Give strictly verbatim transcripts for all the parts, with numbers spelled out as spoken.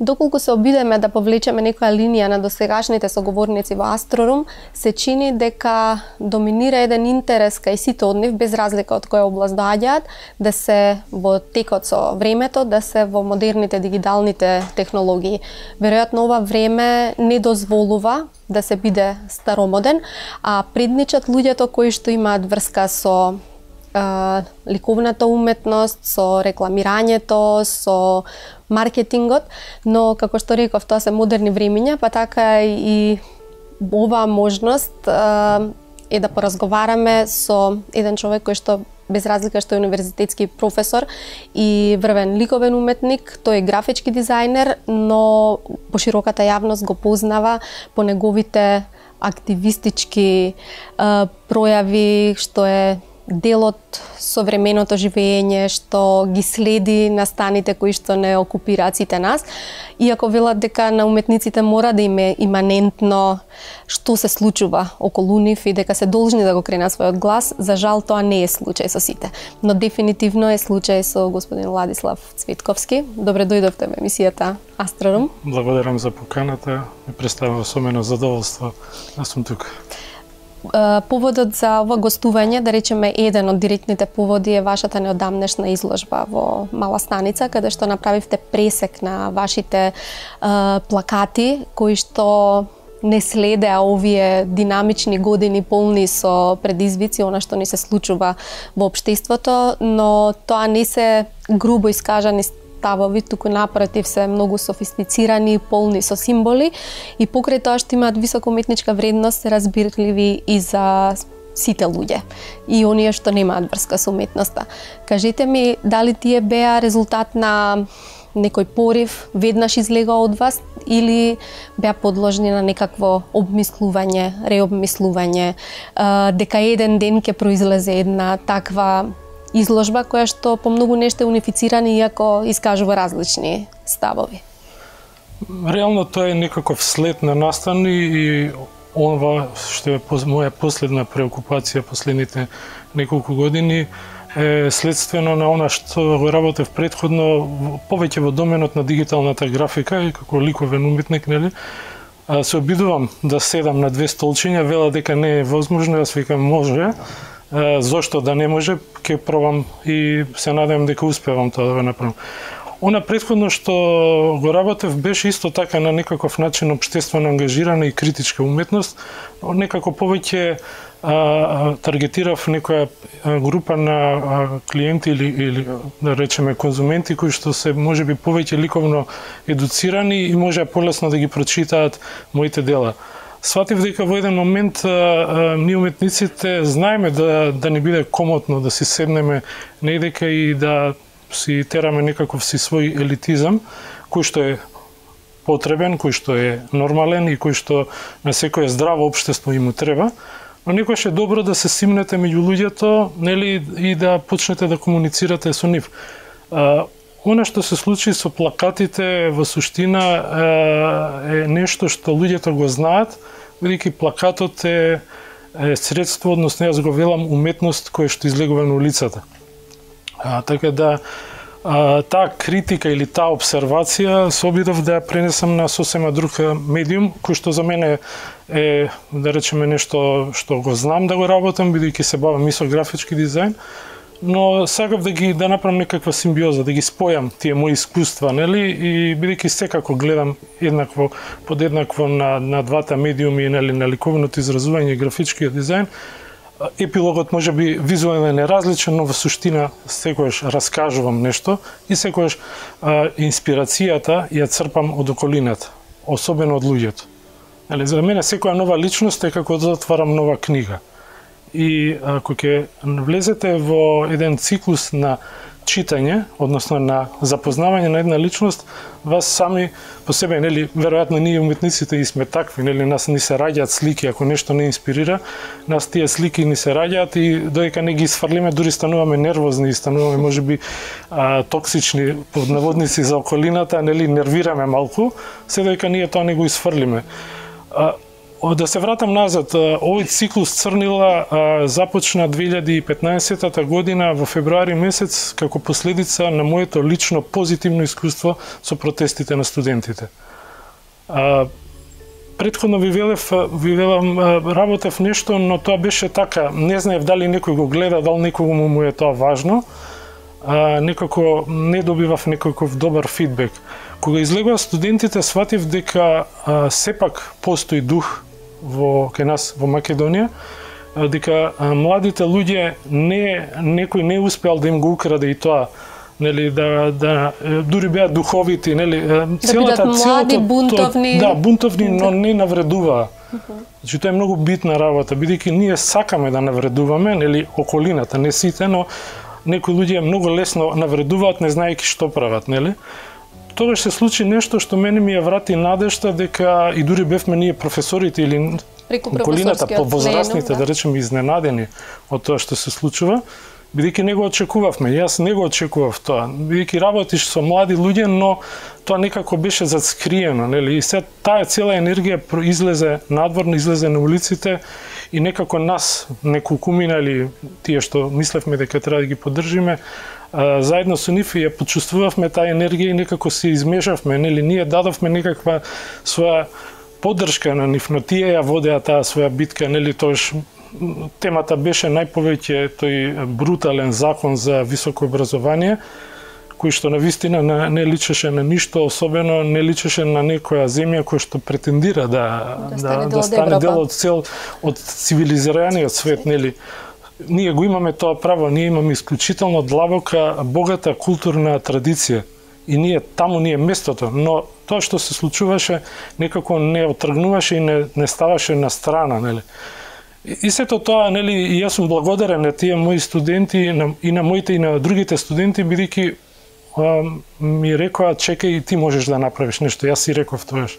Доколку се обидеме да повлечеме некоја линија на досегашните соговорници во Астрорум, се чини дека доминира еден интерес кај сите од нив, без разлика од која област доаѓаат, да се во текот со времето, да се во модерните дигиталните технологии. Веројатно ова време не дозволува да се биде старомоден, а предничат луѓето кои што имаат врска со Uh, ликовната уметност, со рекламирањето, со маркетингот, но како што реков, тоа се модерни времиња, па така и оваа можност uh, е да поразговараме со еден човек кој што без разлика што е универзитетски професор и врвен ликовен уметник, тој е графички дизајнер, но пошироката јавност го познава по неговите активистички uh, пројави, што е дел од современото живење, што ги следи настаните кои што не окупираат сите нас. Иако велат дека на уметниците мора да им е иманентно што се случува околу нив и дека се должни да го кренат својот глас, за жал тоа не е случај со сите. Но дефинитивно е случај со господин Владислав Цветковски. Добре дојдовте во емисијата Астрорум. Благодарам за поканата. Ме представува особено задоволство да сум тука. Поводот за ова гостување, да речеме еден од директните поводи, е вашата неодамнешна изложба во Мала Станица, каде што направивте пресек на вашите е, плакати, кои што не следеа овие динамични години полни со предизвици, она што ни се случува во општеството, но тоа не се грубо искажани ставови, туку напротив се многу софистицирани, полни со символи и покрај тоа што имаат висока уметничка вредност, се разбирливи и за сите луѓе и оние што немаат врска со уметноста. Кажете ми, дали тие беа резултат на некој порив, веднаш излега од вас, или беа подложни на некакво обмислување, реобмислување, дека еден ден ќе произлезе една таква изложба која што по многу нешто е унифицирана, иако искажува различни ставови? Реално тоа е некаков след на настани и ова што е моја последна преокупација последните неколку години е следствено на она што го работев претходно, повеќе во доменот на дигиталната графика и како ликовен уметник, нели? Се обидувам да седам на две столчиња, вела дека не е возможно, јас викам може. Зошто да не може, ќе пробам и се надевам дека успевам тоа да го направам. Она претходно што го работев беше исто така на некаков начин општествено ангажирана и критичка уметност, некако повеќе а, таргетирав некоја група на а, клиенти или, или да речеме конзументи кои што се можеби повеќе ликовно едуцирани и може полесно да ги прочитаат моите дела. Сватив дека во еден момент а, а, ние уметниците знаеме да, да не биде комотно да си седнеме недека и да си тераме некаков си свој елитизам, кој што е потребен, кој што е нормален и кој што на секое здраво општество им треба, но некојаш е добро да се симнете меѓу луѓето, нели, и да почнете да комуницирате со нив. А, Она што се случи со плакатите во суштина е нешто што луѓето го знаат, бидејќи плакатот е, е средство, односно јас го велам уметност која што излегува на улицата. А, така да а, таа критика или таа обсервација се обидов да ја пренесам на сосема друг медиум, кој што за мене е, да речеме, нешто што го знам да го работам, бидејќи се бавам и со графички дизајн, но сакав да ги да направам некаква симбиоза, да ги спојам тие мои искуства, нели, и бидејќи секако гледам еднакво, подеднакво на на двата медиуми, нели, на ликовното изразување и графичкиот дизајн, епилогот може би визуелно е различен, но во суштина секогаш раскажувам нешто и секогаш а, инспирацијата ја црпам од околината, особено од луѓето. Нели, за мене секоја нова личност е како да отварам нова книга. И ако ќе влезете во еден циклус на читање, односно на запознавање на една личност, вас сами по себе, нели, веројатно ние уметниците и сме такви, нели, нас ни се раѓаат слики, ако нешто не инспирира, нас тие слики ни се раѓаат и додека не ги исфрлиме, дури стануваме нервозни и стануваме можеби а, токсични под наводници за околината, нели, нервираме малку, се додека ние тоа не го исфрлиме. А, Да се вратам назад, овој циклус Црнила започна две илјади и петнаесета година во февруари месец како последица на моето лично позитивно искуство со протестите на студентите. Предходно ви велев, ви велам, работев нешто, но тоа беше така, не знаев дали некој го гледа, дали некогу му е тоа важно, некако не добивав некаков добар фидбек. Кога излегува студентите, сватив дека а, сепак постои дух во кај нас во Македонија, а, дека а, младите луѓе не некој не успеал да им го украде и тоа, нели, да да дури беа духовити, нели, целата да млади, целото бунтовни, да, бунтовни, но не навредуваа. Значи тоа е многу битна работа, бидејќи ние сакаме да навредуваме, нели, околината, не сите, но некои луѓе многу лесно навредуваат не знаејќи што прават, нели? Тогаш се случи нешто што мене ми ја врати надежта дека и дури бевме ние професорите или околината повозрастните, да. да речем, изненадени од тоа што се случува, бидејќи не го очекувавме. Јас не го очекував тоа, бидејќи работиш со млади луѓе, но тоа некако беше зацкриено, нели? И се таа цела енергија излезе надвор, излезе на улиците и некако нас, неколкумина или тие што мислевме дека треба да ги поддржиме, а, заедно со нив ја почувствувавме таа енергија и некако се измешавме, нели, ние дадовме некаква своја поддршка на нив, но тие ја водеа таа своја битка, нели, тоаш темата беше најповеќе тој брутален закон за високо образование, кој што навистина не личеше на ништо, особено не личеше на некоја земја која што претендира да да стане, да, да стане дел од цел од цивилизираниот свет, нели. Ние го имаме тоа право, ние имаме исклучително длабока, богата културна традиција и ние таму ни е местото, но тоа што се случуваше некако не отргнуваше и не, не ставаше на страна, нели. И сето тоа, нели, и јас сум благодарен на тие мои студенти и на, и на моите и на другите студенти, бидејќи ми рекоа, чекај, ти можеш да направиш нешто, јас си реков тоаш.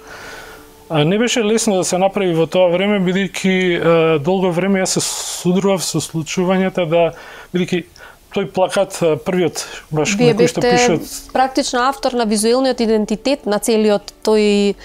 Не беше лесно да се направи во тоа време, бидејќи долго време јас се судрував со случувањата да, бидејќи тој плакат првиот баш Вие кој што пише практично автор на визуелниот идентитет на целиот тој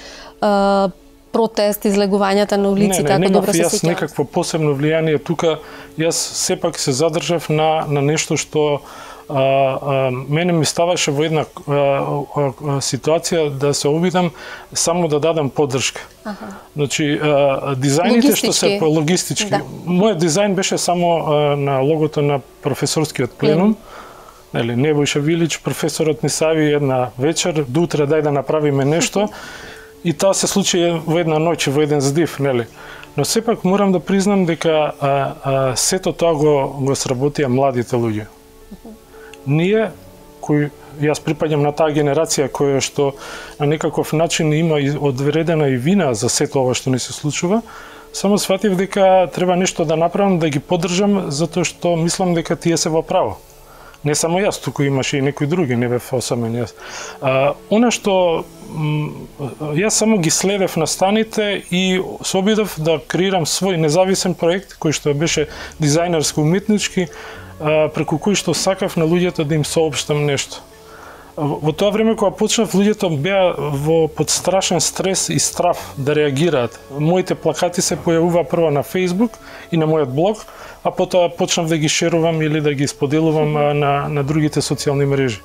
а, протест, излегувањата на улиците, ако добро се сеќавам. Јас некакво посебно влијание тука, јас сепак се задржав на на нешто што А, а, мене ми ставаше во една а, а, ситуација да се обидам само да дадам поддршка. Аха. Значи, а, дизајните што се по логистички. Да. Мојот дизајн беше само а, на логото на професорскиот пленум. Mm. Нели, Небојша Вилич, професорот ни сави една вечер, до утре дај да направиме нешто. И тоа се случи во една ноќ, во еден здив, нели. Но сепак морам да признам дека а, а, сето тоа го, го сработија младите луѓе. Ние, кои јас припаѓам на таа генерација која што на некаков начин има одвредена и вина за сето ова што ни се случува, само сватив дека треба нешто да направам, да ги поддржам, затоа што мислам дека тие се во право. Не само јас, туку имаше и некои други, не бев осамен јас. А, она што јас само ги следев настаните и се обидов да креирам свој независен проект, кој што беше дизајнерско-уметнички, преку кој што сакав на луѓето да им соопштам нешто. Во тоа време кога почнав, луѓето беа во под страшен стрес и страв да реагираат. Моите плакати се појавува прво на Facebook и на мојот блог, а потоа почнав да ги шерувам или да ги споделувам на, на другите социјални мрежи.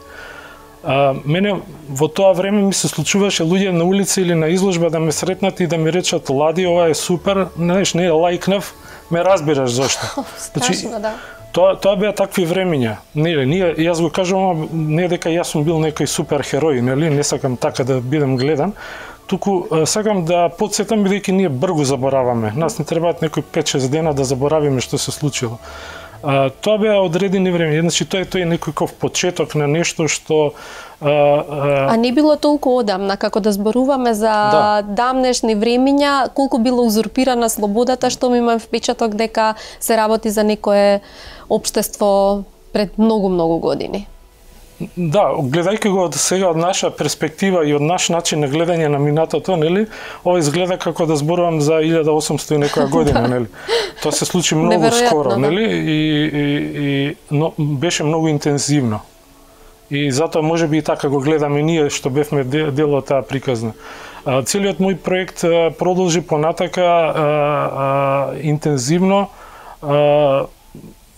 А, мене во тоа време ми се случуваше луѓе на улица или на изложба да ме сретнат и да ми речат: "Лади, ова е супер", знаеш, не лајкнав, ме разбираш зошто. Страшно, да. Тоа тоа беа такви времиња. Нели, ние јас го кажувам не дека јас сум бил некој супер херој, нели, не сакам така да бидам гледан, туку сакам да потсетам бидејќи ние брзо забораваме. Нас не требаат некои пет-шест дена да заборавиме што се случило. А, тоа беа одредени време. Значи тоа е тој некој почеток на нешто што а, а... а не било толку одамна како да зборуваме за да. Дамнешни времиња, колку било узурпирана слободата, што ми имам впечаток дека се работи за некое општество пред многу многу години. Да, гледајќи го од сега од наша перспектива и од наш начин на гледање на минатото, нели, ова изгледа како да зборувам за илјада осумстотини некоја година, нели. Тоа се случи многу скоро, нели, и, и, и но, беше многу интензивно. И затоа можеби и така го гледаме ние што бевме дел од таа приказна. А, целиот мој проект а, продолжи понатака а, а, интензивно. А,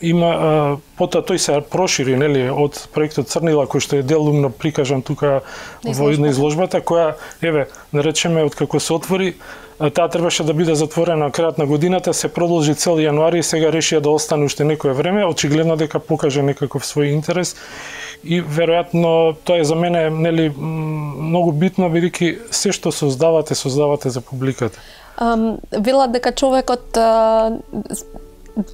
има а, потоа тој се прошири, нели, од проектот Црнила кој што е делумно прикажан тука во една изложбата која, еве, да речеме, од како се отвори, таа требаше да биде затворена на крајот на годината, се продолжи цел јануари и сега решија да остане уште некое време, очигледно дека покаже некаков свој интерес и веројатно тоа е за мене, нели, многу битно бидејќи се што создавате, создавате за публиката. Um, велат дека човекот uh...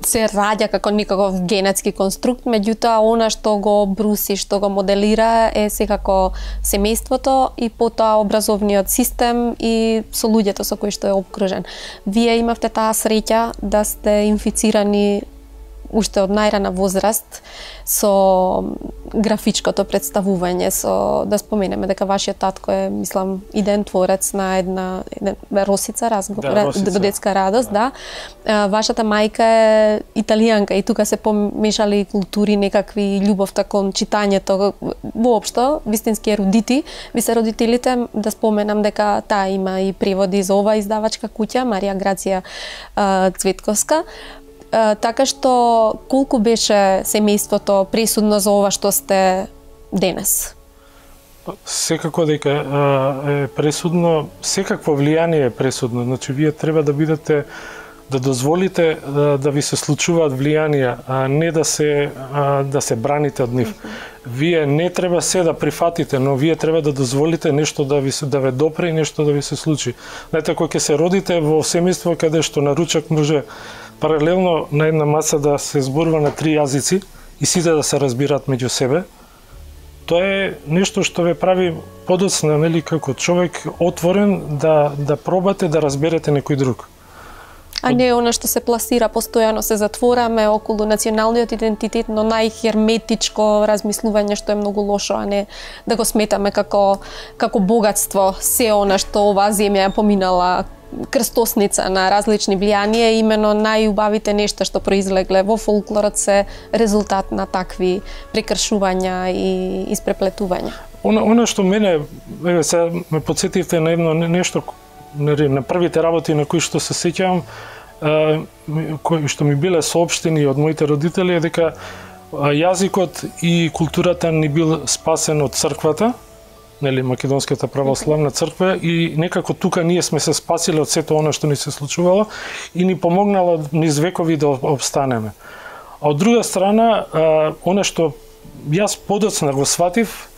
се раѓа како никаков генетски конструкт, меѓутоа она што го бруси, што го моделира е секако семејството и потоа образовниот систем и со луѓето со кои што е обкружен. Вие имавте таа среќа да сте инфицирани уште од најрана возраст со графичкото представување, со да споменеме дека вашиот татко е, мислам, иден творец на една, една Росица разговор, да, Росица. Детска радост, да. да. Вашата мајка е италијанка и тука се помешали култури, некакви љубовта кон читањето, воопшто, вистински ерудити. Ви се родителите, да споменам дека таа има и преводи за ова издавачка куќа, Марија Грација Цветковска. Uh, така што колку беше семејството пресудно за ова што сте денес? Секако дека uh, е пресудно, секакво влијание е пресудно. Значи, вие треба да бидете, да дозволите да, да ви се случуваат влијанија, а не да се, а, да се браните од нив. Вие не треба се да прифатите, но вие треба да дозволите нешто да ви се да ве допре и нешто да ви се случи. Знаете, кога ќе се родите во семејство каде што на ручак може паралелно на една маса да се зборува на три јазици и сите да се разбираат меѓу себе, тоа е нешто што ве прави подоцна, нели, како човек отворен да да пробате да разберете некој друг. А не она што се пласира постојано, се затвораме околу националниот идентитет, но најхерметичко размислување што е многу лошо, а не да го сметаме како како богатство се она што оваа земја поминала крстосница на различни влијанија, имено најубавите нешта што произлегле во фолклорот се резултат на такви прекршувања и испреплетувања. Она, она што мене, еве сега ме потсетивте на едно нешто, на првите работи на кои што се сеќавам, кои што ми биле соопштени од моите родители, е дека јазикот и културата ни бил спасен од црквата, нели, Македонската православна црква, и некако тука ние сме се спасиле од сето она што ни се случувало и ни помогнало низ векови да обстанеме. А од друга страна, она што јас подоцна го сватив,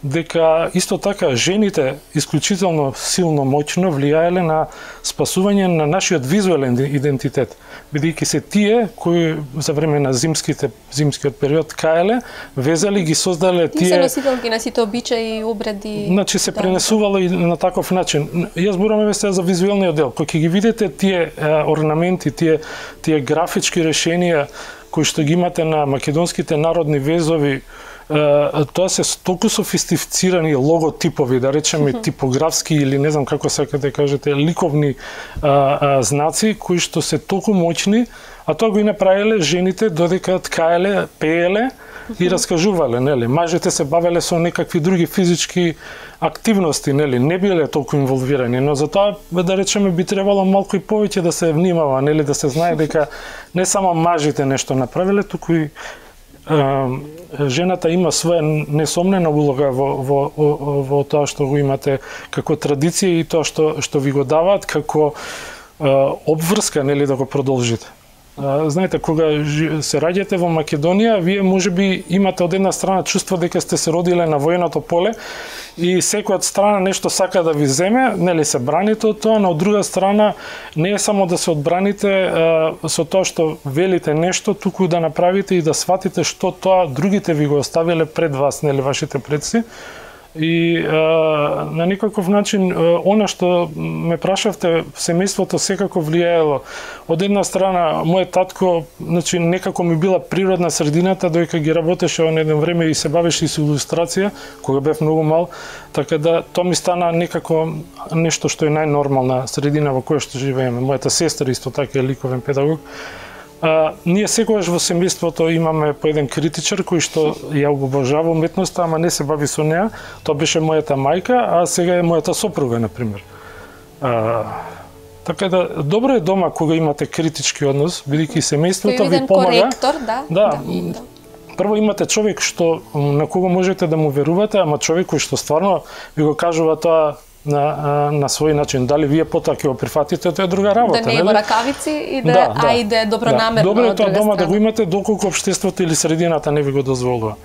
дека исто така жените исклучително силно моќно влијаеле на спасување на нашиот визуелен идентитет, бидејќи се тие кои за време на зимските зимскиот период каеле, везали, ги создале тие. Се носителки на сите обичаи и обреди. Значи се да, пренесувало и на таков начин. Јас зборувам сега за визуелниот дел. Кога ќе ги видите тие орнаменти, тие тие графички решенија кои што ги имате на македонските народни везови, тоа се толку софистицирани логотипови, да речеме типографски или не знам како сакате да кажете, ликовни а, а, знаци кои што се толку моćни, а тоа го и направиле жените додека ткаеле, пееле и раскажувале, нели. Мажите се бавеле со некакви други физички активности, нели, не биле толку инволвирани, но затоа, да речеме, би требало малку и повеќе да се внимава, нели, да се знае дека не само мажите нешто направиле, туку и жената има своја несомнена улога во, во, во, во тоа што го имате како традиција и тоа што, што ви го даваат како е, обврска, нели, да го продолжите. Знаете, кога се раѓате во Македонија, вие можеби имате од една страна чувство дека сте се родиле на военото поле и секој од страна нешто сака да ви земе, нели се браните од тоа, но од друга страна не е само да се одбраните а, со тоа што велите нешто, туку да направите и да сватите што тоа другите ви го оставиле пред вас, нели вашите предци. И а, на некаков начин а, она што ме прашавте, семејството секако влијаело. Од една страна, мојот татко, значи некако ми била природна средината, дојка ги работеше на едно време и се бавеше и со илустрација, кога бев многу мал, така да тоа ми стана некако нешто што е најнормална средина во која што живееме. Мојата сестра исто така е ликовен педагог. А, ние секогаш во семејството имаме по еден критичар кој што ја обожава уметноста, ама не се бави со неа. Тоа беше мојата мајка, а сега е мојата сопруга, например. А, така да, добро е дома кога имате критички однос, бидејќи семејството ви помага. Коректор, да, да, да, да. Прво имате човек што на кого можете да му верувате, ама човек кој што стварно ви го кажува тоа на, на свој начин. Дали вие потоа ќе го прифатите, тоа е друга работа. Да не е во ракавици и да, да, а и да е добронамерно. Да. Добро е тоа дома страна. да го имате доколку општеството или средината не ви го дозволува.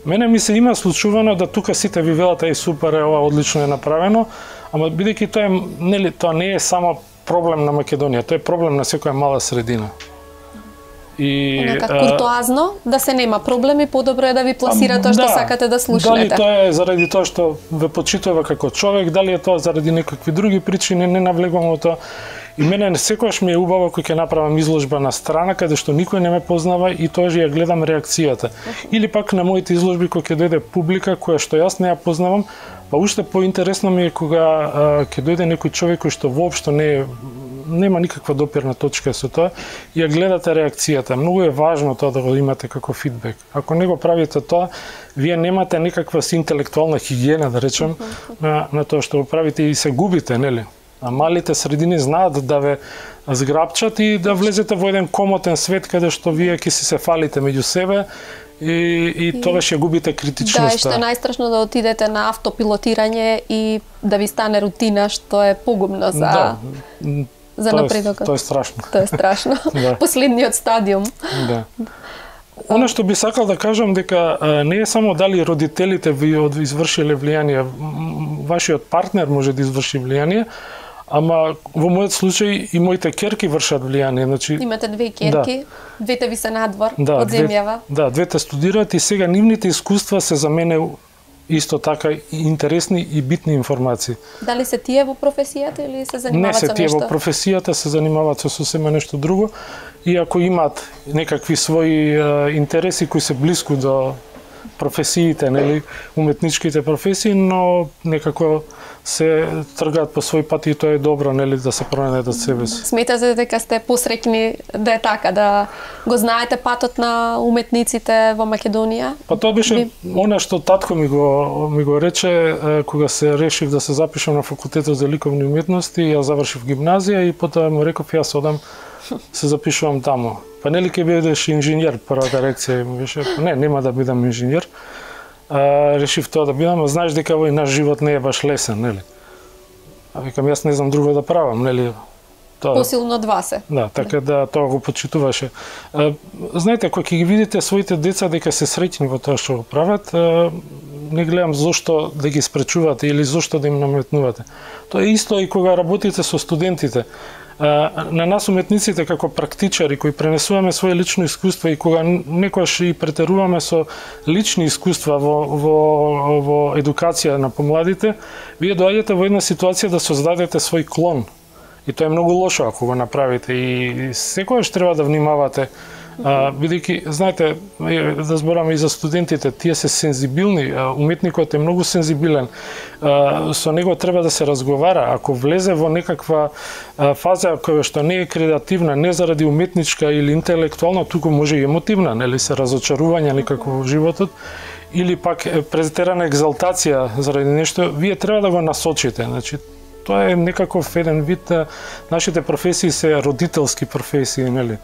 Мене ми се има случувано да тука сите ви велат е супер, е ова одлично е направено, ама бидејќи тоа е, нели, тоа не е само проблем на Македонија, тоа е проблем на секоја мала средина. И онака куртоазно, да се нема проблеми, подобро е да ви пласира тоа што да, сакате да слушнете. Дали тоа е заради тоа што ве почитува како човек, дали е тоа заради некакви други причини, не навлегувам во тоа. И мене секогаш ми е убаво кога ќе направам изложба на страна каде што никој не ме познава и тоа ја гледам реакцијата. Или пак на моите изложби кога ќе дојде публика која што јас не ја познавам, па уште поинтересно ми е кога ќе дојде некој човек кој што воопшто не е нема никаква допирна точка со тоа и ја гледате реакцијата. Многу е важно тоа да го имате како фидбек. Ако не го правите тоа, вие немате некаква си интелектуална хигиена, да речем, на, на тоа што го правите и се губите, нели? А малите средини знаат да ве зграпчат и да влезете во еден комотен свет каде што вие ќе си се фалите меѓу себе и, и тогаш ја губите критичноста. Да, и што е најстрашно да отидете на автопилотирање и да ви стане рутина, што е погубно за... Да. За напредокот. Тоа е страшно. Тоа е страшно. Да. Последниот стадиум. Да. Она што би сакал да кажам дека не е само дали родителите ви извршиле влијание, вашиот партнер може да изврши влијание, ама во мојот случај и моите керки вршат влијание. Значи, имате две керки, да. Двете ви се надвор да, од земјава. Две, да, двете студираат и сега нивните искуства се за мене исто така интересни и битни информации. Дали се тие во професијата или се занимаваат со нешто? Не се тие во професијата, се занимаваат со сосема нешто друго. И ако имаат некакви своји е, интереси кои се блиску до професиите, нели, уметничките професии, но некако се тргаат по свој пат и тоа е добро, нели, да се пронајдат себе си. Сметате дека сте посреќни да е така, да го знаете патот на уметниците во Македонија? Па тоа беше би... она што татко ми го ми го рече кога се решив да се запишам на факултетот за ликовни уметности, ја завршив гимназија и потоа му реков јас одам се запишувам таму. Па нели ќе бидеш инженер, првата реакција ми беше, не, нема да бидам инженер. А, решив тоа да бидам, а знаеш дека овој наш живот не е баш лесен, нели? А викам, јас не знам друго да правам, нели? Тоа... Посилно од вас е. Да, така да тоа го почитуваше. А, знаете, кога ќе ги видите своите деца дека се среќни во тоа што го прават, а, не гледам зошто да ги спречувате или зошто да им наметнувате. Тоа е исто и кога работите со студентите. На нас уметниците како практичари кои пренесуваме своje лично искуство и кога некојаш и претеруваме со лични искуства во, во, во едукација на помладите, вие доаѓате во една ситуација да создадете свој клон. И тоа е многу лошо ако го направите и секогаш треба да внимавате. А, бидејќи, знаете, да збораме и за студентите, тие се сензибилни, уметникот е многу сензибилен, а, со него треба да се разговара. Ако влезе во некаква а, фаза која што не е креативна, не заради уметничка или интелектуална, туку може и емотивна, нели се разочарување некако во животот, или пак претерана екзалтација заради нешто, вие треба да го насочите. Значи, тоа е некаков еден вид, нашите професии се родителски професии, нели?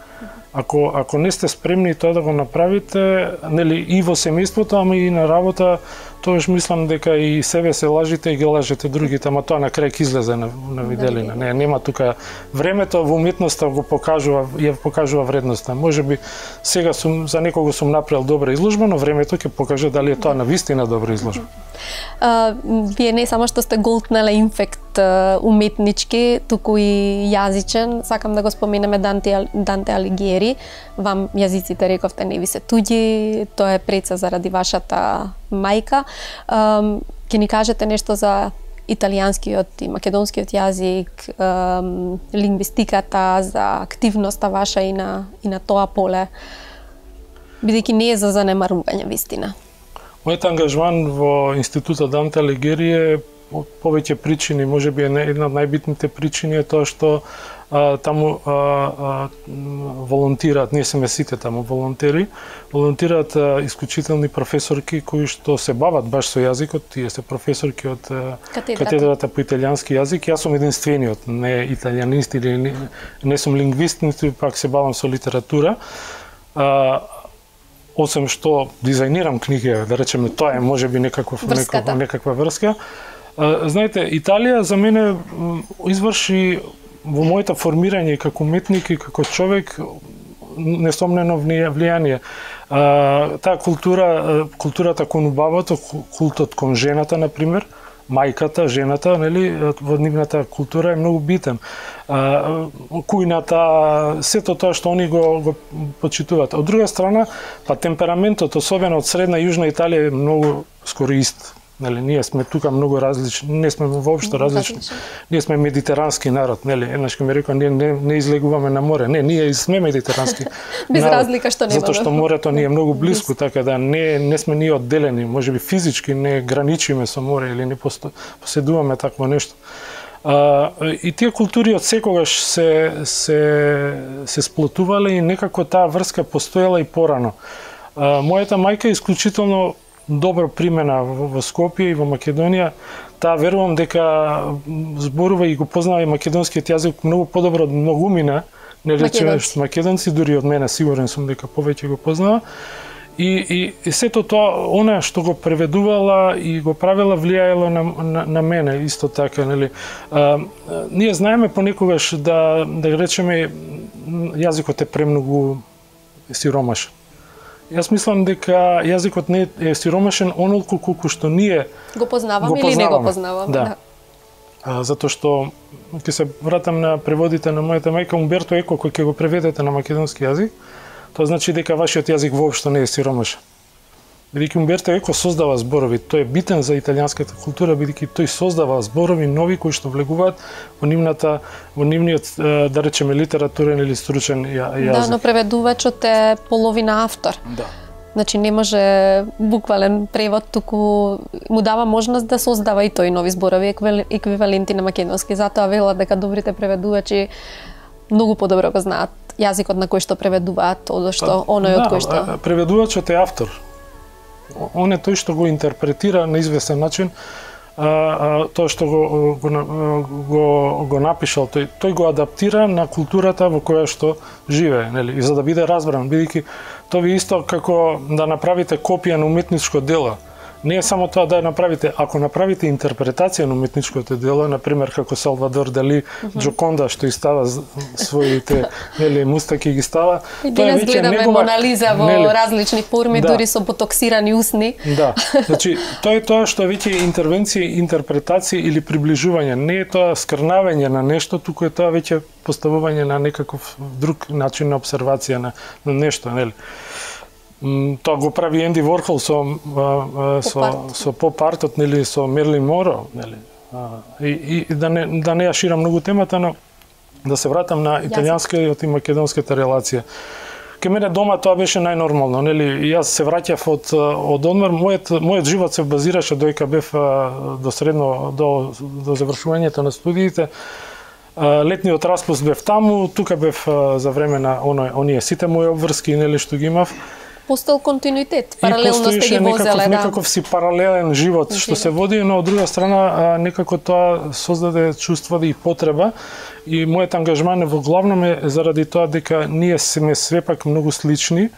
Ако, ако не сте спремни тоа да го направите, нели, и во семејството, ама и на работа, тогаш мислам дека и себе се лажите и ги лажете другите, ама тоа на крај ќе излезе на, на виделина. Не, нема тука времето во уметноста го покажува, ја покажува вредноста. Можеби сега сум за некого сум направил добра изложба, но времето ќе покаже дали е тоа на вистина добра изложба. Uh, вие не само што сте голтнале инфект uh, уметнички, туку и јазичен. Сакам да го споменеме Данте, Данте Алигиери. Вам јазиците рековте не ви се туѓи, тоа е преца заради вашата мајка. Um, Ке ни кажете нешто за италијанскиот и македонскиот јазик, um, лингвистиката, за активноста ваша и на, и на тоа поле, бидејќи не е за занемарување вистина. Мојот ангажман во Институтот Данте Алигиери е повеќе причини, можеби е една од најбитните причини е тоа што а, таму а, а, волонтираат, не сме сите таму волонтери, волонтираат а, исклучителни професорки кои што се бават баш со јазикот, тие се професорки од катедрата, катедрата по италијански јазик. Јас сум единствениот, не италијанист или не, не сум лингвист, ниту пак се бавам со литература. А, осем што дизајнирам книги, да речеме, тоа е можеби некаков, некаква, некаква врска. А, знаете, Италија за мене изврши во моето формирање како уметник и како човек несомнено влијание. А, таа култура, културата кон убавото, култот кон жената, например, мајката, жената, нели, во нивната култура е многу битен. А, кујната, сето тоа што они го, го почитуваат. Од друга страна, па темпераментот, особено од средна и јужна Италија, е многу скоро ист. Нели, ние сме тука многу различни, не сме воопшто различни. Ние сме медитерански народ, нели? Еднаш ми рекоа, ние не, не излегуваме на море. Не, ние сме медитерански. Без народ, разлика што нема. Затоа што морето ни е многу близко, така да не не сме ние одделени, можеби физички не граничиме со море или не поседуваме такво нешто. А, и тие култури од секогаш се се се сплотувале и некако таа врска постоела и порано. А, мојата мајка е исклучително добро примена во Скопје и во Македонија. Таа верувам дека зборува и го познава и македонскиот јазик многу подобро од многумина, не речеме македонци, дури од мене сигурен сум дека повеќе го познава. И, и, и сето тоа, она што го преведувала и го правила влијаело на, на, на мене, исто така, нели. А, ние знаеме понекогаш да, да речеме, јазикот е премногу сиромашен. Јас мислам дека јазикот не е сиромашен онолку колку што ние го познаваме, го познаваме или не го познаваме. Да. да. А, затоа што ќе се вратам на преводите на мојата мајка Умберто Еко, кој ќе го преведете на македонски јазик, тоа значи дека вашиот јазик воопшто не е сиромашен. Бидејќи Умберто Еко создава зборови, тој е битен за италијанската култура, бидејќи тој создава зборови нови кои што влегуваат во нивната, во нивниот, да речеме, литературен или стручен јазик. Да, но преведувачот е половина автор. Да. Значи не може буквален превод, туку му дава можност да создава и тој нови зборови еквиваленти на македонски. Затоа вела дека добрите преведувачи многу подобро го знаат јазикот на кој што преведуваат, од што оној од кој што. Да, преведувачот е автор. Он е тој што го интерпретира на известен начин, а, а, тоа што го, го, го, го напишал, тој, тој го адаптира на културата во која што живее, нели? И за да биде разбран, бидејќи тоа ви исто како да направите копија на уметничко дело. Не е само тоа да ја направите, ако направите интерпретација на уметничкото дело, на пример како Салвадор Дали, uh -huh. Джоконда што и става своите, нели, мустаки ги става. И денес гледаме негова... Мона Лиза во нели, различни форми, да. Дури со ботоксирани усни. Да, значи тоа е тоа што веќе интервенција, интерпретација или приближување, не е тоа скрнавање на нешто, туку е тоа веќе поставување на некаков друг начин на обсервација на, на нешто, нели. Тоа го прави Енди Ворхол со со со поп-артот, нели, со Мерлин Моро, нели. И, и да не да не ја ширам многу темата, но да се вратам на италијанскиот и македонската релација. Ке мене дома тоа беше најнормално, нели. Јас се враќав од од одмор, мојот мојот живот се базираше доека бев до средно до до завршувањето на студиите. Летниот распуст бев таму, тука бев за време на оној оние сите мои обврски, нели, што ги имав. Постоел континуитет, паралелно сте ги возеле, некаков, да. Некаков си паралелен живот што се води, но од друга страна некако тоа создаде чувство и потреба и мојот ангажман е во главном е заради тоа дека ние сме свепак многу слични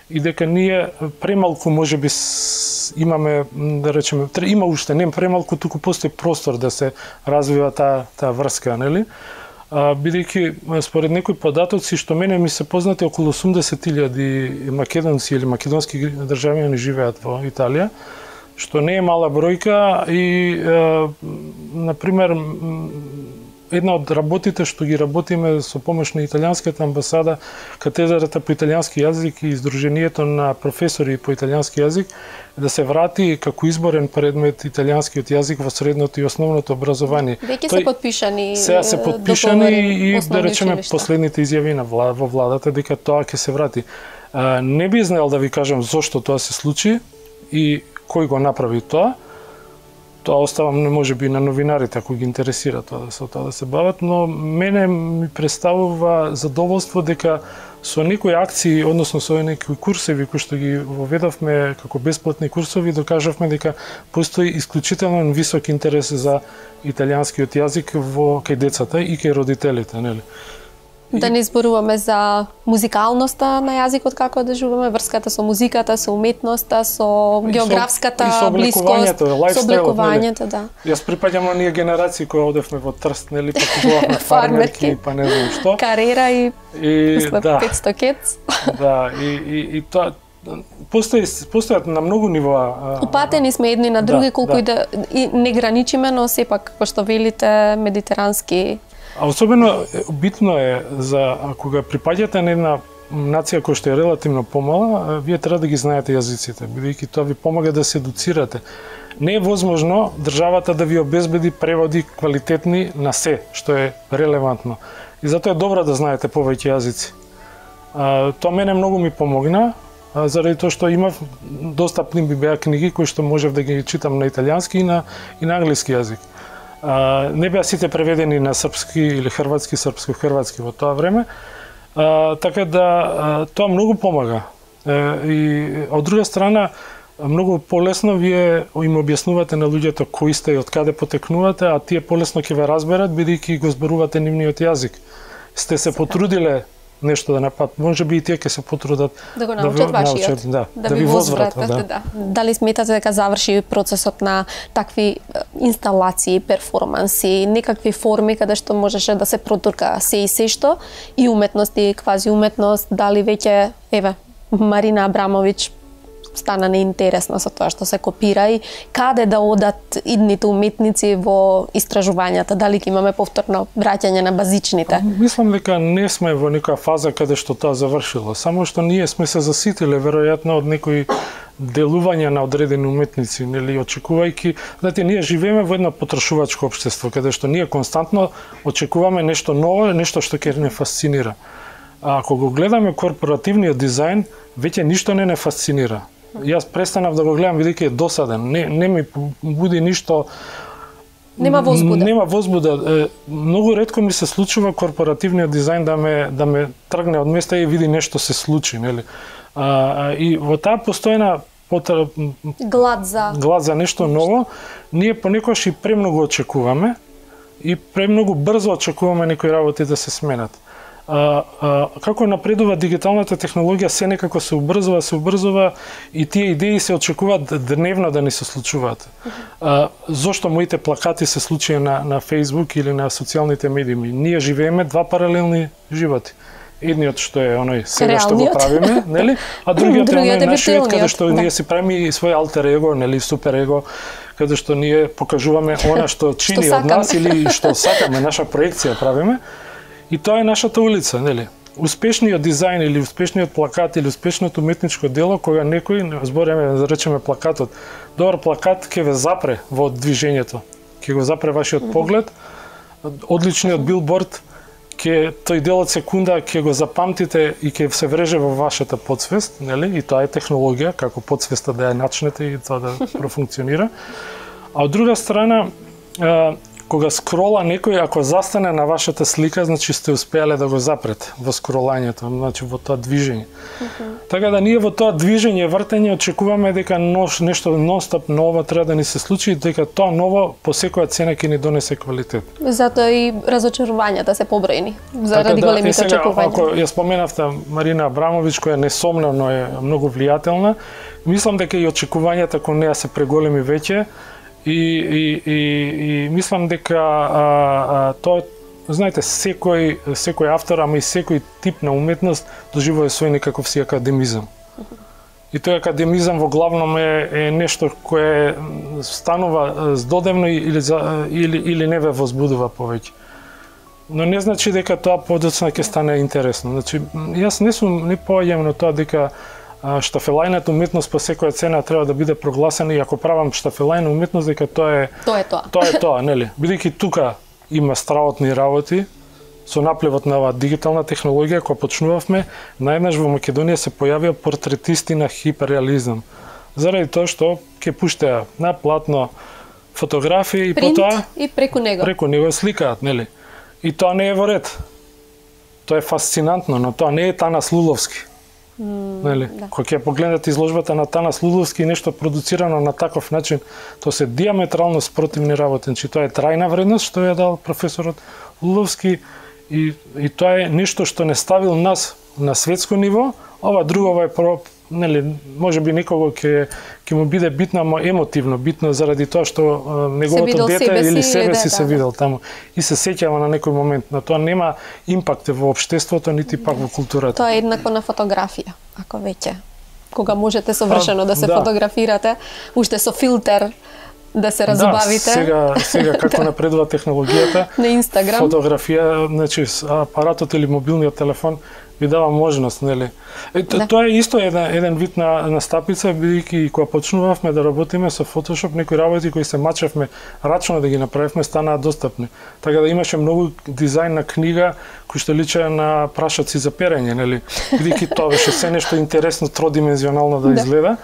и дека ние премалку можеби имаме, да речеме, има уште не премалку, туку постои простор да се развива таа таа врска, нели? А, бидејќи според некои податоци што мене ми се познати, околу осумдесет илјади македонци или македонски државјани живеат во Италија, што не е мала бројка и е, например една од работите што ги работиме со помош на италијанската амбасада, катедрата по италијански јазик и Издруженијето на професори по италијански јазик, да се врати како изборен предмет италијанскиот јазик во средното и основното образование. Веќе се подпишани Сега се подпишани и да речеме последните изјави на влада, во владата дека тоа ќе се врати. А, не би знаел да ви кажам зошто тоа се случи и кој го направи тоа. Тоа оставам не може би на новинарите ако ги интересира тоа да се тоа да се бават, но мене ми представува задоволство дека со некои акции, односно со некои курсеви кои што ги воведовме како бесплатни курсови, докажавме дека постои исклучително висок интерес за италијанскиот јазик во кај децата и кај родителите, нели? Да не зборуваме за музикалноста на јазикот, како одежуваме, врската со музиката, со уметноста, со географската и со блискост, со облекувањето, да. Јас припаѓам на ние генерации кои одевме во Трст, нели, па купувавме фармерки, па не знам што. Карера и, и да. петстотини кец. Да, и, и, и тоа постои постојат на многу нивоа. Упатени сме едни на други, да, колку да. и да и не граничиме, но сепак како што велите медитерански. А особено битно е за кога припаѓате на една нација која што е релативно помала, вие треба да ги знаете јазиците, бидејќи тоа ви помага да се едуцирате. Не е возможно државата да ви обезбеди преводи квалитетни на се што е релевантно. И затоа е добро да знаете повеќе јазици. А, тоа мене многу ми помогна, а, заради тоа што имав достапни би беа книги кои што можев да ги читам на италијански и на и на англиски јазик. А, не беа сите преведени на српски или хрватски, српско-хрватски во тоа време, а, така да а, тоа многу помага. А, и од друга страна, многу полесно вие им објаснувате на луѓето кои сте и од каде потекнувате, а тие полесно ќе ве разберат бидејќи го зборувате нивниот јазик. Сте се потрудиле нешто да напат, може би и тие ќе се потрудат да го научат да вашиот, да, да, да ви возвратат, да. да. Дали сметате дека заврши процесот на такви инсталации, перформанси, некакви форми каде што можеше да се протурка се и се што и уметност и квази уметност, дали веќе еве Марина Абрамовиќ стана неинтересна со тоа што се копира и каде да одат идните уметници во истражувањата, дали ќе имаме повторно враќање на базичните? Мислам дека не сме во некоја фаза каде што тоа завршило, само што ние сме се заситиле веројатно од некои делувања на одредени уметници, нели, очекувајќи, знаете, ние живееме во едно потрошувачко општество каде што ние константно очекуваме нешто ново, нешто што ќе не фасцинира. А ако го гледаме корпоративниот дизајн, веќе ништо не не фасцинира. Јас престанав да го гледам бидејќи е досаден. Не не ми буди ништо. Нема возбуда. Нема возбуда. Многу ретко ми се случува корпоративниот дизајн да ме да ме тргне од места и види нешто се случи, нели? А, и во таа постојна потреб... глад за глад за нешто ново, ние понекогаш и премногу очекуваме и премногу брзо очекуваме некои работи да се сменат. А, а, како напредува дигиталната технологија, се некако се убрзува, се убрзува и тие идеи се очекуваат дневно да ни се случуваат. А, зошто моите плакати се случија на, на Facebook или на социјалните медии? Ние живееме два паралелни животи. Едниот што е оној сега што го правиме, нели? А другиот е оној нашиот каде што да. Ние си правиме свој алтер его, нели, супер его, каде што ние покажуваме она што чини од нас или што сакаме, наша проекција правиме. И тоа е нашата улица, нели? Успешниот дизајн или успешниот плакат или успешното уметничко дело, кога некој, збореме, да речеме плакатот, добар плакат ќе ве запре во движењето, ќе го запре вашиот поглед, одличниот билборд, ќе тој дел од секунда ќе го запамтите и ќе се вреже во вашата подсвест, нели? И тоа е технологија, како подсвеста да ја начнете и тоа да профункционира. А од друга страна, кога скрола некој, ако застане на вашата слика, значи сте успеале да го запрете во скролањето, значи во тоа движење. Mm-hmm. Така да ние во тоа движење, вртење, очекуваме дека нош, нешто нонстоп ново треба да ни се случи, дека тоа ново по секоја цена ќе ни донесе квалитет. Затоа и разочарувањата се побројни, заради така да, големите очекувања. Ако ја споменавте Марина Абрамовиќ, која несомнено е многу влијателна, мислам дека и очекувањата кон неа се преголеми веќе, И, и, и, и мислам дека а, а, тоа, знаете, секој, секој автор, ама и секој тип на уметност доживува свој некаков си академизам. И тој академизам во главном е, е нешто кое станува здодевно или, или, или не ве возбудува повеќе. Но не значи дека тоа подоцна ќе стане интересно. Значи, јас не сум не поаѓам на тоа дека штафелајната уметност по секоја цена треба да биде прогласена, и ако правам штафелајна уметност, дека тоа е тоа е тоа. Тоа е тоа, нели? Бидејќи тука има страотни работи со наплевот на оваа дигитална технологија, кога почнувавме, најнаш во Македонија се појавија портретисти на хиперреализам. Заради тоа што ќе пуштеа на платно фотографии и потоа и преку него. Преку него сликаат, нели? И тоа не е во ред. Тоа е фасцинантно, но тоа не е Танас Луловски. Mm, нели? Да. Кога ќе погледнете изложбата на Танас Луловски, нешто продуцирано на таков начин, тоа се диаметрално спротивни работи. Значи, тоа е трајна вредност што ја дал професорот Луловски, и, и тоа е нешто што не ставил нас на светско ниво. Ова друго е про, нели, можеби некого ќе ќе му биде битно, ама емотивно битно, заради тоа што неговото дете или себе си се видел таму и се сеќава на некој момент. Но тоа нема импакт во општеството, нити пак во културата. Тоа е еднакво на фотографија, ако веќе кога можете совршено да се да. фотографирате, уште со филтер да се разубавите. Да, сега сега како напредува технологијата на Инстаграм. Фотографија, значи апаратот или мобилниот телефон ви дава можност, нели? Е, да. Тоа е исто еден, еден вид на настапица, бидејќи кога почнувавме да работиме со Photoshop, некои работи кои се мачевме рачно да ги направивме, станаа достапни. Така да имаше многу дизајн на книга кои што личеа на прашаци за перење, нели? Бидејќи тоа беше се нешто интересно, тродимензионално да изгледа.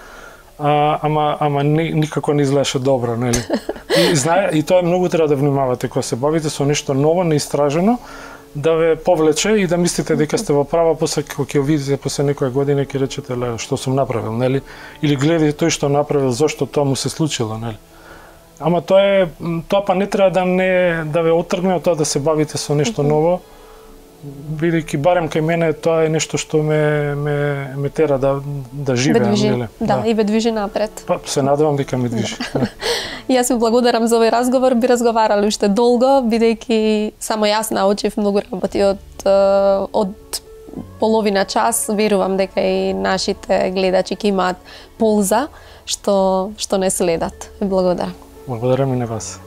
А, ама ама ни, никако не изгледаше добро, нели? И знае, и тоа многу треба да внимавате кога се бавите со нешто ново, неистражено, да ве повлече и да мислите дека сте во права, после кога ќе видите после некоја година ќе речете ле што сум направил, нели? Или гледате тој што направил, зошто тоа му се случило, нели? Ама тоа е тоа па не треба да не да ве оттргне од тоа да се бавите со нешто ново, бидејќи барем кај мене тоа е нешто што ме ме ме тера да да живеам, нели? Да, да, и ве движи напред. Па се надевам дека ме движи. Да. Јас ви благодарам за овој разговор, би разговарали уште долго, бидејќи само јас научив многу работи од од половина час. Верувам дека и нашите гледачи ќе имаат полза што што не следат. Ви благодарам. Благодарам и на вас.